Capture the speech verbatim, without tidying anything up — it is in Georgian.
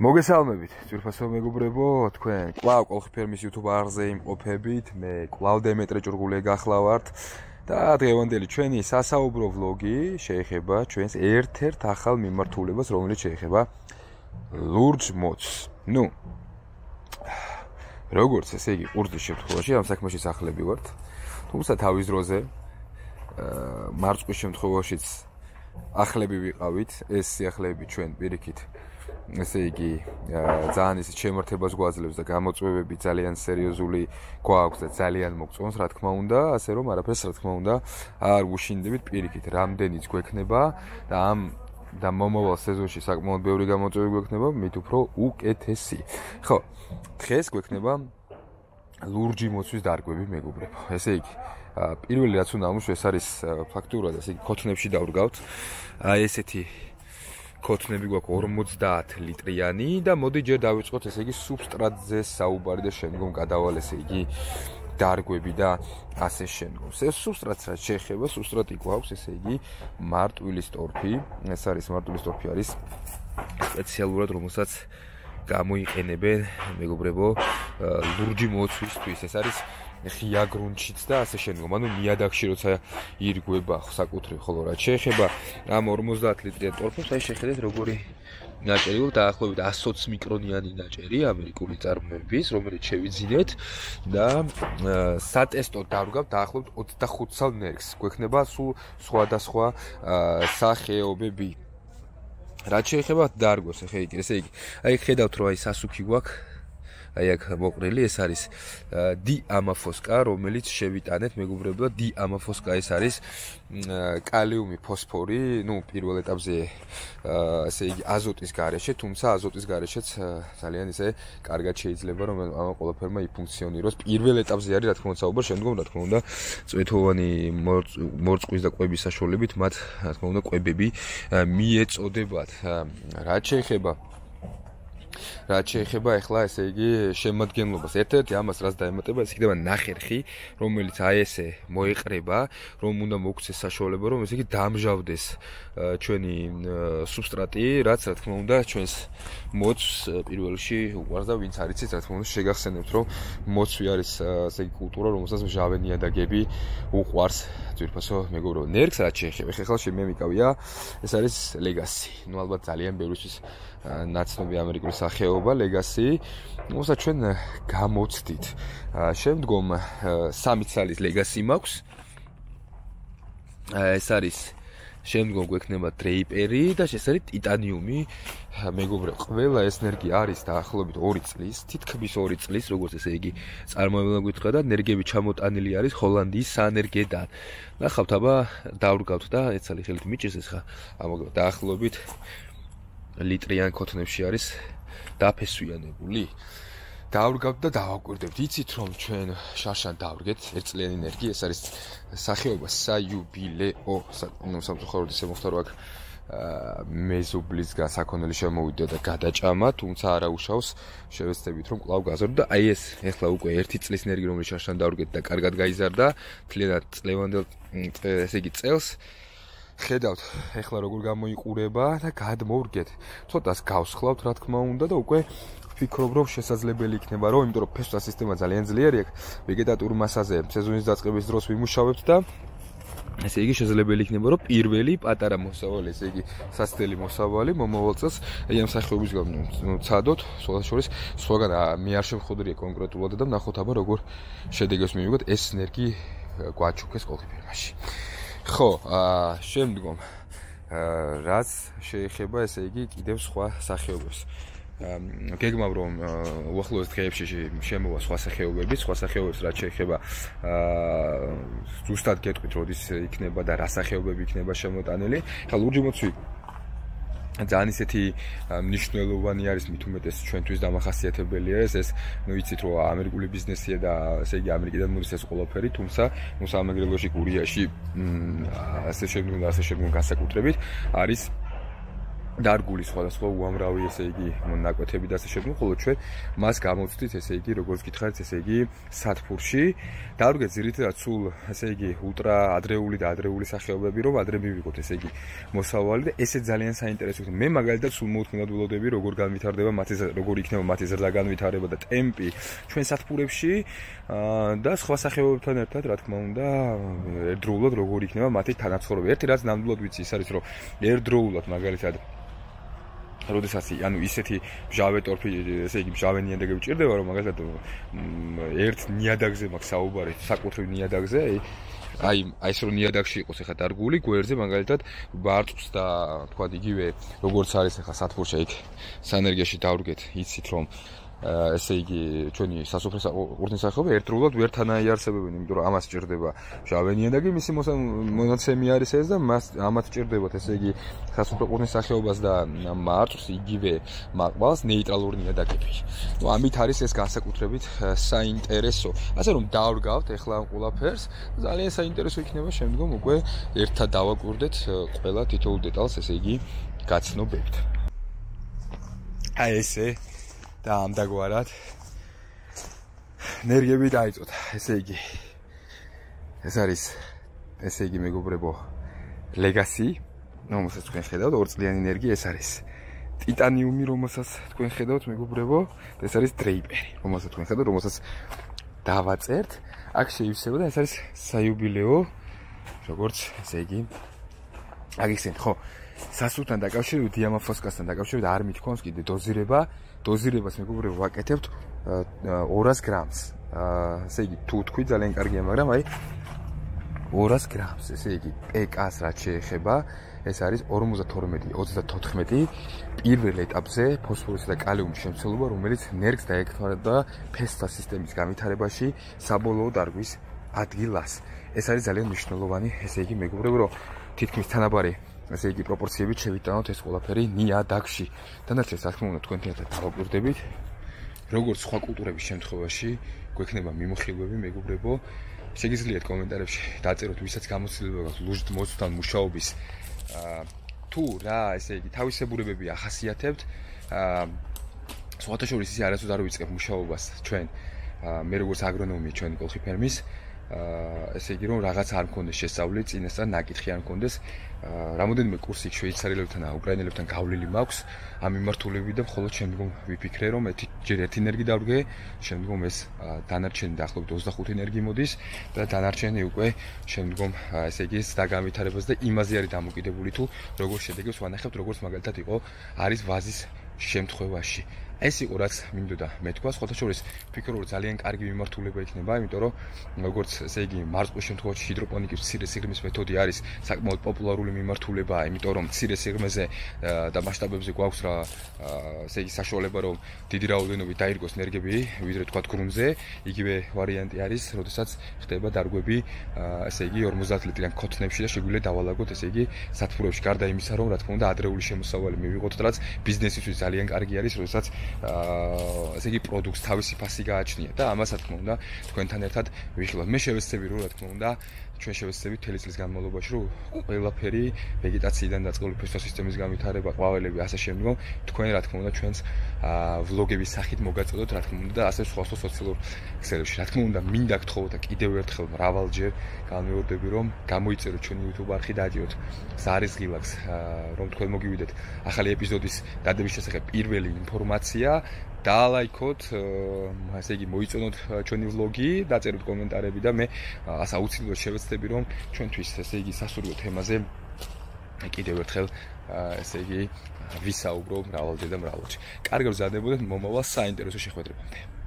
მოგესალმებით, ძვირფასო მეგობრებო, თქვენ კვლავ კოლხი ფერმის YouTube არხზე იმყოფებით, მე კვლავ დემეტრე ჭურღულია გახლავართ და დღევანდელი ჩვენი სასაუბრო ვლოგი შეეხება ჩვენს ერთ-ერთ ახალ მიმართულებას, რომელიც შეეხება ლურჯ მოდს. ნუ როგორც ესე იგი, ყურძნის შემთხვევაში ამ საქმეში სახლები ვართ, თუმცა თავის დროზე მარწყვის შემთხვევაშიც ახლები ვიყავით, ეს სიახლეები ჩვენ პირიქით ესე იგი ძალიან ისე შემართებას გვაძლევს და გამოწვევები ძალიან სერიოზული გვაქვს და ძალიან მოგწონს, რა თქმა უნდა, ასე რომ არაფერს რა თქმა უნდა არ ვუშინდებით პირიქით, რამდენიც გვექნება და ამ და მომავალ სეზონში საკმაოდ ბევრი გამოწვევები გვექნება, მით უფრო უკეთესი. ხო, დღეს გვექნება ლურჯი მოცვის დარგვები, მეგობრებო. ესე იგი, პირველი რაც უნდა ამუშავო, ეს არის ფაქტურად, ესე იგი, ქოთნებში დავრგავთ. აი ესეთი ქოთნები გვაქვს ორმოცდაათ ლიტრიანი და მოდი ჯერ დავიწყოთ ესე იგი სუბსტრატზე საუბარი და შემდგომ გადავალ ესე იგი დარგვები და ასე შემდგომ. ეს სუბსტრატს რაც შეეხება, სუბსტრატი გვაქვს ესე იგი მარტვილის ტორფი. ეს არის მარტვილის ტორფი არის სპეციალურად რომელსაც გამოიყენებენ მეგობრებო ლურჯი მოცვისთვის. ეს არის ღია გრუნტშიც და ასე შემდგომ. ანუ ნიადაგში როცა ირგვება საკუთრივ, ხოლო რაც შეეხება ამ ორმოცდაათ ლიტრიან ტორფებს, აი შეხედეთ როგორი ნაჭერი გვაქვს, დაახლოებით ათი მიკრონიანი ნაჭერი ამერიკული წარმოების, რომელიც შევიძინეთ და სატესტო დავრგავთ დაახლოებით ოცდახუთ სალ ნერგს. გვექნება სულ სხვადასხვა სახეობები. რაც შეეხება დარგვას, ახლა იგი, ესე იგი, აი ხედავთ რომ აი სასუქი გვაქვს. აი აქ მოყრილი ეს არის დიამაფოსკა, რომელიც შევიტანეთ მეგობრებო, დიამაფოსკა ეს არის კალიუმი, ფოსფორი, ну, პირველ ეტაპზე ესე იგი აზოტის გარეშე, თუმცა აზოტის გარეშეც ძალიან ისე კარგად შეიძლება რომ ამ ყველაფერმა იფუნქციონიროს. პირველ ეტაპზე არის რა თქმა უნდა საუბარი, შემდგომ რა თქმა უნდა წვეთოვანი მორწყვის და კვების საშუალებით მათ რა თქმა უნდა კვებები მიეწოდებათ. რაც შეეხება რაც შეეხება ახლა ესე იგი შემადგენლობას. ერთ-ერთი ამას რაც დაემატება, ეს იქნება ნახერხი, რომელიც აი ესე მოეყრება, რომ უნდა მოგვცეს საშუალება, რომ ესე იგი დამჟავდეს ჩვენი სუბსტრატი, რაც რა თქმა უნდა ჩვენს მოცვს პირველ რიგში უყვარს და ვინც არ იცით, რა თქმა უნდა შეგახსენებთ, რომ მოცვი არის ესე იგი კულტურა, რომელსაც მჟავე ნიადაგები უყვარს. ძვირფასო მეგობრებო, ნერგს რაც შეეხება, ხეხლა შემემიკავია, ეს არის ლეგასი. ნუ ალბათ ძალიან ბევრისთვის ნაცნობი ამერიკული სახეობა ლეგასი, რომელსაც ჩვენ გამოცდით. შემდგომ სამი ცალის ლეგასი მაქვს. ეს არის შემდგომ გვექნება დრეიპერი და ეს არის ტიტანიუმი. მეგობრებო, ყველა ეს ნერგი არის დაახლოებით ორი წლის, თითქმის ორი წლის, როგორც ესე იგი წარმოებლა გითხრა და ნერგები ჩამოტანილი არის ჰოლანდიის საენერგედან. ნახავთ, აბა დავრგავთ და ეცალი ხელით მიჭირს ეს ხა, ამაგ დაახლოებით ლიტრიან ქოთნებში არის დაფესვიანებული. დავრგავთ და დავაკვირდებთ. იცით რომ ჩვენ შარშან დავრგეთ ერთწლიანი ნერგი, ეს არის სახეობა საიუბილეო, ნუ სამწუხაროდ ისე მოხდა რომ აქ მეზობლისგან საქონელი შემოვიდა და გადაჭამა, თუმცა არა უშავს, შევეცდებით რომ კვლავ გაზარდო და აი ეს ეხლა უკვე ერთი წლის ნერგი რომელიც შარშან დავრგეთ და კარგად გაიზარდა, თლიანად წლევანდელ ესე იგი წელს ხედავთ ეხლა როგორ გამოიყურება და გადმოვრგეთ. ცოტას გავსხლავთ რა თქმა უნდა და უკვე ვფიქრობ რომ შესაძლებელი იქნება რომ, იმიტომ რომ ფესვთა სისტემა ძალიან ძლიერი აქვს, ვეგეტატურ მასაზე სეზონის დაწყების დროს ვიმუშავებთ და ესე იგი შესაძლებელი იქნება რომ პირველი პატარა მოსავალი, ესე იგი სასწრელი მოსავალი მომავალ წელს აი ამ სახეობის ცადოთ, სხვათა შორის სხვაგან მე არ შემხვდრია კონკრეტულად და ნახოთ აბა როგორ შედეგებს მივიღოთ ეს ნერგი გვაჩუქეს კოლხი ფერმაში. ხო, შემდგომ რაც შეეხება ესე იგი კიდევ სხვა სახეობებს. გეგმავ რომ უახლოეს დღეებში შემოვა სხვა სახეობები, სხვა სახეობებს რაც შეეხება ზუსტად გეტყვით როდის იქნება და რა სახეობები იქნება შემოტანილი. ხა ლურჯი მოცვი ძალიან ისეთი მნიშვნელოვანი არის, მით უმეტეს ჩვენთვის დამახასიათებელი არის ეს, ნუ იცით რომ ამერიკული ბიზნესია და ესე იგი ამერიკიდან მოდის ეს ყველაფერი, თუმცა ნუ სამეგრელოში გურიაში ასე შემდგომ და ასე შემდგომ განსაკუთრებით არის დარგული სხვადასხვა უამრავი ესე იგი ნაკვეთები და ასე შემდეგ, ხოლო ჩვენ მას გამოვცდით ესე იგი როგორც გითხარით ესე იგი სათფურში. დავდგეთ ძირითადად სულ ესე იგი ულტრა ადრეული და ადრეული სახეობები, რომ ადრე მივიღოთ ესე იგი მოსავალი და ესე ძალიან საინტერესო. მე მაგალითად სულ მოუთმენად ველოდები როგორ განვითარდება მათი როგორ იქნება მათი ზრდა განვითარება და ტემპი ჩვენ სათფურებში და სხვა სახეობებთან ერთად რა თქმა უნდა ერთდროულად როგორ იქნება მათი თანაცხოვრება. ერთი რაც ნამდვილად ვიცი ის არის რომ ერთდროულად მაგალითად როდესაც ანუ ისეთი მჟავე ტორფი ესე იგი მჟავე ნიადაგები ჭირდება რომ მაგალითად ერთ ნიადაგზე მაქვს საუბარი საკუთრივ ნიადაგზე აი აი ეს რომ ნიადაგში იყოს ახლა დარგული გვერდზე მაგალითად ბარწყს და თქვა იგივე როგორც არის ახლა სათფურში იქ სანერგიაში დავრგეთ იცით რომ ესე იგი ჩვენი სასოფლო ურთიერთსახეობები ერთდროულად ვერ თანაიარსებებენ, იმიტომ რომ ამას ჭირდება მჟავე ნიადაგი, მისი მონაცემი არის ეს და მას ამათ ჭირდებათ ესე იგი სასოფლო ურთიერთსახეობას და მარწყს იგივე მაყვალს ნეიტრალური ნიადაგები. ნუ ამით არის ეს განსაკუთრებით საინტერესო. ასე რომ დავრგავთ ახლა ამ ყველაფერს, ძალიან საინტერესო იქნება შემდგომ უკვე ერთად დავაკვირდეთ ყველა თითოეულ დეტალს ესე იგი გაცნობებით. აი ესე და ამდაგვარად ენერგიები დაიწოთ. ესე იგი ეს არის ესე იგი მეგობრებო ლეგასი, რომელსაც თქვენ ხედავთ, ორწლიანი ენერგია ეს არის. ტიტანიუმი, რომელსაც თქვენ ხედავთ მეგობრებო, ეს არის დრეიპერი, რომელსაც თქვენ ხედავთ, რომელსაც დავაწერთ. აქ შეივსება და ეს არის საიუბილეო, როგორც ესე იგი აგიხსენეთ, ხო? სასულთან დაკავშირებით, დიამაფოსკასთან დაკავშირებით არ მithქვამს კიდე დოზირება. დოზირებას მეგობრებო ვაკეთებთ ორას გრამს. ესე იგი თუ თქვი ძალიან კარგია, მაგრამ აი ორას გრამს, ესე იგი პკ-ს რაც შეეხება, ეს არის ორმოცდათორმეტი ოცდათოთხმეტი პირველ ეტაპზე ფოსფორისა და კალიუმის შემცველობა, რომელიც ნერგს დაეკავდა ფესთა სისტემის განვითარებაში საბოლოო დარგვის ადგილას. ეს არის ძალიან მნიშვნელოვანი, ესე იგი მეგობრებო, რომ თითქმის თანაბარი ესე იგი პროპორციებით შევიტანოთ ეს ყველაფერი ნიადაგში. დანარჩენს რა თქმა უნდა თქვენთან ერთად დავაკვირდებით. როგორც სხვა კულტურების შემთხვევაში გვექნება მიმოხილვები მეგობრებო, შეგიძლიათ კომენტარებში დაწეროთ ვისაც გამოცდილება გაქვს ლუჟით მოცვთან მუშაობის თუ რა ესე იგი თავისებურებები ახასიათებთ. სხვათა შორის ისე არასდროს არ ვიწყებ მუშაობას ჩვენ მე როგორც აგრონომი ჩვენი კოლხი ფერმის ესე იგი რომ რაღაც არ მქონდეს შესწავლილი წინასწარ ნაკითხი არ მქონდეს რამოდენიმე კურსი შვეიცარიელებთან და უკრაინელებთან გავლილი მაქვს ამ მიმართულებით და მხოლოდ შემდგომ ვიფიქრე რომ ჯერ ერთი ენერგი დავდგე შემდგომ ეს დანარჩენი დაახლოებით ოცდახუთი ენერგი მოდის და დანარჩენი უკვე შემდგომ ესე იგი დაგამვითარებას და იმაზე არის დამოკიდებული თუ როგორ შედეგებს ვანახებთ როგორც მაგალითად იყო არის ვაზის შემთხვევაში. ეს იყო რაც მინდოდა მეთქვა, სხვათა შორის ვფიქრობ რომ ძალიან კარგი მიმართულება იქნება, იმიტომ რომ როგორც ესე იგი მარწყვის შემთხვევაში ჰიდროპონიკის მცირე სიღრმის მეთოდი არის საკმაოდ პოპულარული მიმართულება, იმიტომ რომ მცირე სიღრმეზე და მასშტაბებზე გვაქვს რა ესე იგი საშუალება რომ დიდი რაოდენობით დაირგოს ენერგიები, ვიდრე თქვა გრუნტზე, იგივე ვარიანტი არის, როდესაც ხდება დარგვები ესე იგი ორმოცდაათ ლიტრიან ქოთნებში და შეგვიძლია დავალაგოთ ესე იგი სათფურებში, გარდა იმისა რომ რა თქმა უნდა ადრეული შემოსავალი მივიღოთ, რაც ბიზნესისთვის ძალიან კარგი არის, როდესაც ესე იგი პროდუქტს თავისი ფასი გააჩნია და ამას რა თქმა უნდა თქვენთან ერთად ვიხილავთ. მე შევეცდები რომ რა თქმა უნდა ჩვენ შევეცდებით მთელი წლის განმავლობაში რომ ყველაფერი ვეგეტაციიდან დაწყებული ფესვთა სისტემის განვითარება, ყვავილები ასე შემდგომ თქვენ რა თქმა უნდა ჩვენს ვლოგების სახით მოგაწოდოთ რა თქმა უნდა და ასე სხვა სხვა სოციალურ ქსელებში. რა თქმა უნდა მინდა გთხოვოთ და კიდევ ერთხელ მრავალჯერ განმეორდები რომ გამოიწეროთ ჩვენი YouTube არხი და დაადიოთ ზარის ღილაკს რომ თქვენ მოგივიდეთ ახალი ეპიზოდის დადების შესახებ პირველი ინფორმაცია. დაალაიქოთ, ასე იგი მოიწონოთ ჩვენი ვლოგი, დაწეროთ კომენტარები და მე ასე აუცილებლად შევეცდები რომ ჩვენთვის ესე იგი სასურველ თემაზე კიდევ ერთხელ ესე იგი ვისაუბრო მრავალჯერ და მრავალჯერ. კარგად ვზარდებოდეთ მომავალ საინტერესო შეხვედრებამდე.